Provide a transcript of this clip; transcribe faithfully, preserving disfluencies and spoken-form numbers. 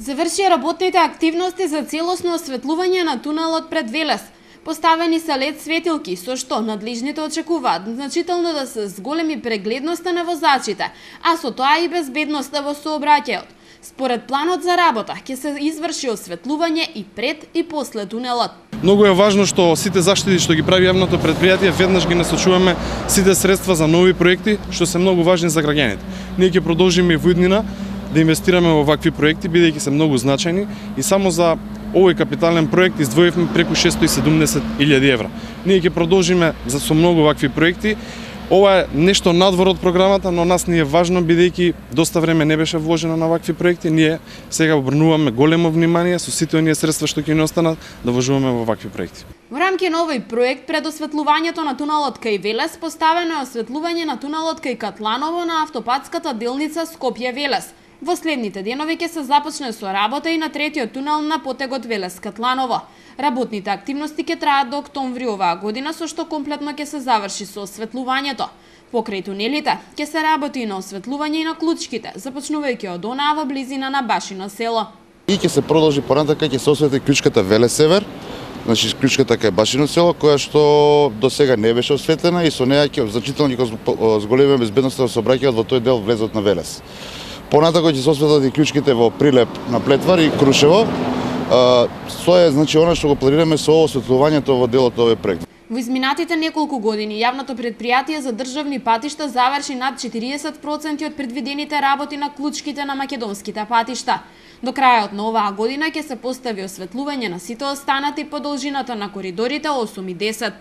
Завршија работните активности за целосно осветлување на тунелот пред Велес. Поставени се лед светилки, со што надлежните очекуваат значително да се зголеми прегледноста на возачите, а со тоа и безбедноста во сообраќајот. Според планот за работа, ќе се изврши осветлување и пред и после тунелот. Многу е важно што сите заштити што ги прави јавното претпријатие веднаш ги насочуваме сите средства за нови проекти што се многу важни за граѓаните. Ние ќе продолжиме и во иднина да инвестираме во вакви проекти, бидејќи се многу значајни, и само за овој капитален проект издвоивме преку шестстотини и седумдесет илјади евра. Ние ќе продолжиме за со многу вакви проекти. Ова е нешто надвор од програмата, но нас ни е важно бидејќи доста време не беше вложено на вакви проекти. Ние сега обрнуваме големо внимание со сите оние средства што ќе ни останат да вложуваме во вакви проекти. Во рамки на овој проект пред осветлувањето на тунелот кај Велес поставено е осветлување на тунелот кај Катланово на автопатската делница Скопје-Велес. Во следните денови ќе се започне со работа и на третиот тунел на потегот Велес-Катланово. Работните активности ќе траат до октомври оваа година, со што комплетно ќе се заврши со осветлувањето. Покрај тунелите ќе се работи и на осветлување и на клучките, започнувајќи од онаа во близина на Башино село. И ќе се продолжи понатака, ќе се осветли клучката Велес-Север, значи клучката кај Башино село, која што до сега не беше осветлена и со неа ќе значително ќе зголемиме безбедноста во сообраќајот во тој дел влезот на Велес. Понатако ќе се осветлат и клучките во Прилеп на Плетвар и Крушево. Тоа е значи она што го планираме со осветлувањето во делот овој проект. Во изминатите неколку години јавното претпријатие за државни патишта заврши над четириесет проценти од предвидените работи на клучките на македонските патишта. До крајот на оваа година ќе се постави осветлување на сите останати по должината на коридорите осум и десет.